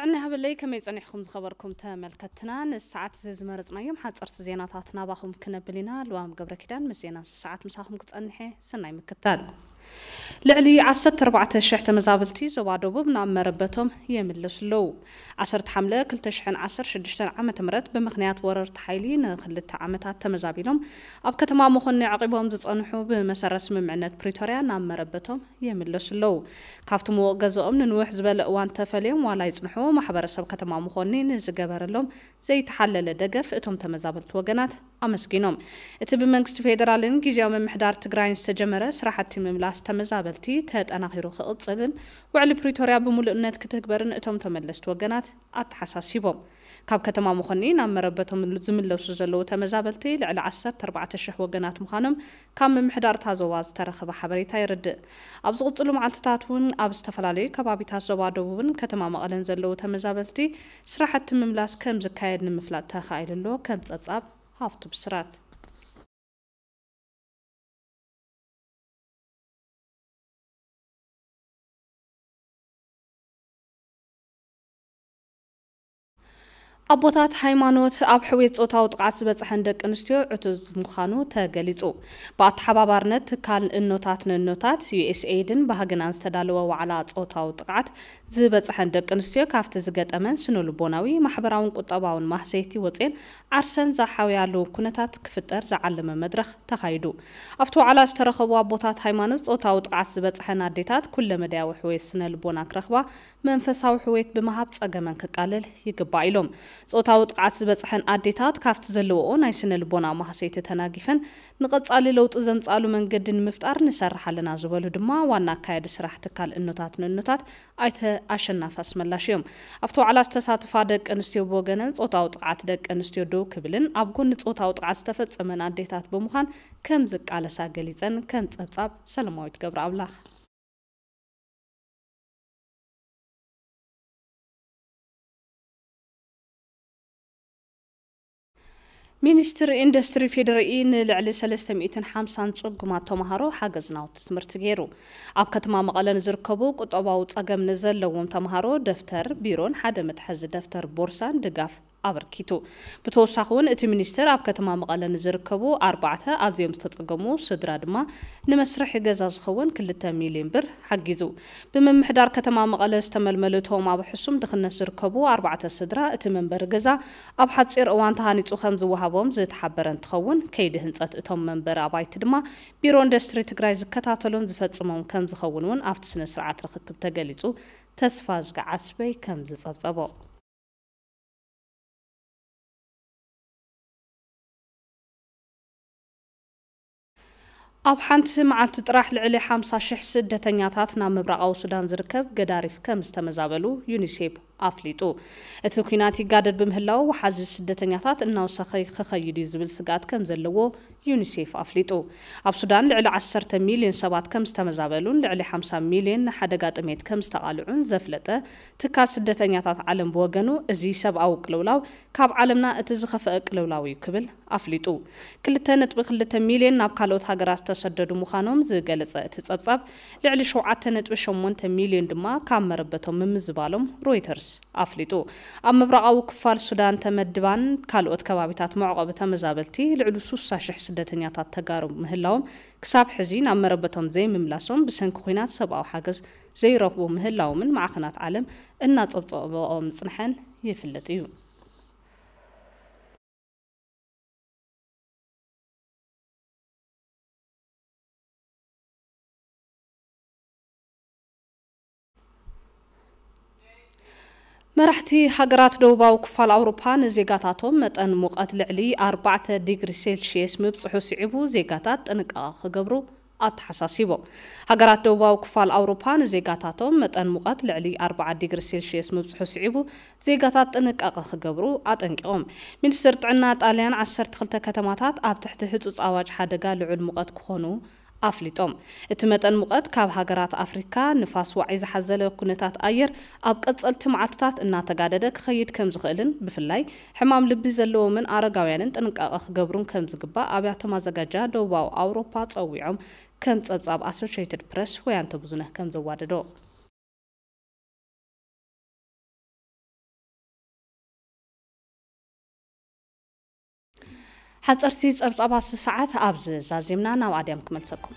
ጥዕና ይሃበለይ። ከመይ ጸኒሕኩም ዝኸበርኩም ተመልከትና? ንሰዓት እዚ ዝመረጽናዮም ሓጸርቲ ዜናታት ናባኹም ክነብል ኢና። ልዋም ገብረ ኪዳን ምስ ዜና ሰዓት ምሳኹም ክጸንሐ። ሰናይ ምክታል። ልዕሊ ዓሰርተ ኣርባዕተ ሽሕ ተመዛበልቲ ዞባ ደቡብ ናብ መረበቶም የምለሱ ኣለዉ። ዓሰርተ ሓምለ ክልተ ሽሕን ዓሰርተ ሽዱሽተን ዓመተ ምህረት ብምኽንያት ወረርቲ ሓይሊ ንኽልተ ዓመታት ተመዛቢሎም ኣብ ከተማ መኾኒ ዓቒቦም ዝጸንሑ ብመሰረት ስምምዕነት ፕሪቶርያ ናብ መረበቶም የምለሱ ኣለዉ። ካብቲ ምዉቕ ገዛኦም ንንውሕ ዝበለ እዋን ተፈልዮም ዋላ ይጽንሑ፣ ማሕበረሰብ ከተማ መኾኒ ንዝገበረሎም ዘይተሓለለ ደገፍ እቶም ተመዛበልቲ ወገናት ኣመስጊኖም። እቲ ብመንግስቲ ፌደራልን ግዝያዊ ምምሕዳር ትግራይን ዝተጀመረ ስራሕቲ ምምላስ ተመዛበልቲ ተጠናኺሩ ክቕፅልን ውዕሊ ፕሪቶርያ ብምሉእነት ክትግበርን እቶም ተመለስቲ ወገናት ኣተሓሳሲቦም። ካብ ከተማ መኾኒ ናብ መረበቶም ዝምለሱ ዘለዉ ተመዛበልቲ ልዕሊ ዓሰርተ ኣርባዕተ ሽሕ ወገናት ምዃኖም ካብ ምምሕዳር እታ ዞባ ዝተረኸበ ሓበሬታ የረድእ። ኣብ ዝቕፅሉ መዓልትታት እውን ኣብ ዝተፈላለዩ ከባቢታት ዞባ ደቡብን ከተማ መቐለን ዘለዉ ተመዛበልቲ ስራሕቲ ምምላስ ከም ዝካየድ ንምፍላጥ ተኻኢሉ ኣሎ። ከም ጸብጻብ ሃፍቱ ብስራት። ኣቦታት ሃይማኖት ኣብ ሕውየት ጾታዊ ጥቕዓት ዝበጽሐን ደቂ ኣንስትዮ ዕቱብ ምዃኑ ተገሊጹ። ብኣተሓባባርነት ትካል እኖታት ንእኖታት፣ ዩ ኤስ ኤይድን ባህግናን ዝተዳለወ ዋዕላ ጾታዊ ጥቕዓት ዝበጽሐን ደቂ ኣንስትዮ ካብቲ ዝገጠመን ስነ ልቦናዊ፣ ማሕበራውን ቁጠባውን ማህሰይቲ ወጽኤን ዓርሰን ዝሓውያሉ ኩነታት ክፍጠር ዝዓለመ መድረኽ ተኻይዱ። ኣብቲ ዋዕላ ዝተረኸቡ ኣቦታት ሃይማኖት ጾታዊ ጥቕዓት ዝበጽሐን ኣዴታት ኩለ መዳያዊ ሕውየት ስነ ልቦና ክረኽባ መንፈሳዊ ሕውየት ብምሃብ ጸገመን ክቃለል ይግባእ ኢሎም። ጾታዊ ጥቕዓት ዝበጽሐን ኣዴታት ካብቲ ዘለዎኦ ናይ ስነ ልቦና ማህሰይቲ ተናጊፈን ንቐጻሊ ለውጢ ዘምጻሉ መንገዲ ንምፍጣር ንሰርሕ ኣለና ዝበሉ ድማ ዋና ኣካያዲ ስራሕ ትካል እኖታት ንእኖታት ኣይተ ኣሸናፊ ኣስመላሽ እዮም። ኣብቲ ዋዕላ ዝተሳተፋ ደቂ ኣንስትዮ ብወገነን ጾታዊ ጥቕዓት ደቂ ኣንስትዮ ደው ክብልን ኣብ ጎኒ ጾታዊ ጥቕዓት ዝተፈጸመን ኣዴታት ብምዃን ከም ዝቃለሳ ገሊጸን። ከም ጸብጻብ ሰለማዊት ገብረኣምላኽ። ሚኒስትሪ ኢንዱስትሪ ፌዴሪኢ ንልዕሊ ሰለስተ ሚእትን ሓምሳን ጽጉማት ተምሃሮ ሓገዝ ናውቲ ትምህርቲ ገይሩ። ኣብ ከተማ መቐለ ንዝርከቡ ቁጠባዊ ጸገም ንዘለዎም ተምሃሮ ደፍተር፣ ቢሮን ሓደ መትሓዚ ደፍተር ቦርሳን ድጋፍ ኣበርኪቱ። ብተወሳኺ እውን እቲ ሚኒስትር ኣብ ከተማ መቐለ ንዝርከቡ ኣርባዕተ ኣዝዮም ዝተጸገሙ ስድራ ድማ ንመስርሒ ገዛ ዝኸውን ክልተ ሚልዮን ብር ሓጊዙ። ብምምሕዳር ከተማ መቐለ ዝተመልመሉ እቶም ኣብ ሕሱም ድኽነት ዝርከቡ ኣርባዕተ ስድራ እቲ መንበሪ ገዛ ኣብ ሓጺር እዋን ተሃኒጹ ከም ዝወሃቦም ዝተሓበረ እንትኸውን፣ ከይዲ ህንጸት እቶም መንበሪ ኣባይቲ ድማ ቢሮ ኢንዱስትሪ ትግራይ ዝከታተሎን ዝፈጽሞን ከም ዝኸውን እውን ኣብቲ ስነ ስርዓት ርኽክብ ተገሊጹ። ተስፋ ዝገዓስበይ ከም ዝጸብጸቦ። ኣብ ሓንቲ መዓልቲ ጥራሕ ልዕሊ ሓምሳ ሽሕ ስደተኛታት ናብ ምብራቓዊ ሱዳን ዝርከብ ገዳሪፍ ከም ዝተመዛበሉ ዩኒሴፍ ኣፍሊጡ። እቲ ኲናት ይጋደድ ብምህላው፣ ወሓዚ ስደተኛታት እናወሰኸ ክኸይድ እዩ ዝብል ስግኣት ከም ዘለዎ ዩኒሴፍ ኣፍሊጡ። ኣብ ሱዳን ልዕሊ ዓሰርተ ሚልዮን ሰባት ከም ዝተመዛበሉን ልዕሊ ሓምሳ ሚልዮን ንሓደጋ ጥሜት ከም ዝተቓልዑን ዘፍለጠ ትካል ስደተኛታት ዓለም ብወገኑ፣ እዚ ሰብኣዊ ቅልውላው ካብ ዓለምና እቲ ዝኸፍአ ቅልውላው እዩ ክብል ኣፍሊጡ። ክልተ ነጥቢ ክልተ ሚልዮን ናብ ካልኦት ሃገራት ዝተሰደዱ ምዃኖም ዝገለጸ እቲ ጸብጻብ፣ ልዕሊ ሸውዓተ ነጥቢ ሸሞንተ ሚልዮን ድማ ካብ መረበቶም ምምዝባሎም ሮይተርስ ኣፍሊጡ። ኣብ ምብራቓዊ ክፋል ሱዳን ተመድባን ካልኦት ከባቢታት መዕቆቢ ተመዛበልቲ ልዕሊ ስሳ ሽሕ ስደተኛታት ተጋሩ ምህላዎም፣ ክሳብ ሕዚ ናብ መረበቶም ዘይምምላሶም ብሰንኪ ኲናት ሰብኣዊ ሓገዝ ዘይረኽቡ ምህላዎምን ማዕኸናት ዓለም እናጸብጸብኦ ምጽንሐን ይፍለጥ እዩ። መራሕቲ ሃገራት ደቡባዊ ክፋል ኣውሮፓ ንዜጋታቶም መጠን ሙቐት ልዕሊ ኣርባዕተ ዲግሪ ሴልሽየስ ምብጽሑ ስዒቡ ዜጋታት ጥንቃቐ ክገብሩ ኣተሓሳሲቦም። ሃገራት ደቡባዊ ክፋል ኣውሮፓ ንዜጋታቶም መጠን ሙቐት ልዕሊ ኣርባዓ ዲግሪ ሴልሽየስ ምብጽሑ ስዒቡ ዜጋታት ጥንቃቐ ክገብሩ ኣጠንቂቖም። ሚኒስትር ጥዕና ጣልያን ዓሰርተ ክልተ ከተማታት ኣብ ትሕቲ ህጹጽ ኣዋጅ ሓደጋ ልዑል ሙቐት ክኾኑ ኣፍሊጦም። እቲ መጠን ሙቐት ካብ ሃገራት ኣፍሪካ ንፋስ ዋዒ ዝሓዘለ ኩነታት ኣየር ኣብ ቀጸልቲ መዓልትታት እናተጋደደ ክኸይድ ከም ዝኽእልን ብፍላይ ሕማም ልቢ ዘለዎምን ኣረጋውያንን ጥንቃቐ ክገብሩን ከም ዝግባእ ኣብያተ ማዘጋጃ ደቡባዊ ኣውሮፓ ጸዊዖም ከም ጸብጻብ ኣሶሽየትድ ፕረስ ወያንተ ብዙነህ ከም ዘዋደዶ። ሓፀርቲ ፀብፃባት ሰዓት ኣብዚ ዛዚምና ናብ ኣድያም ክመልሰኩም።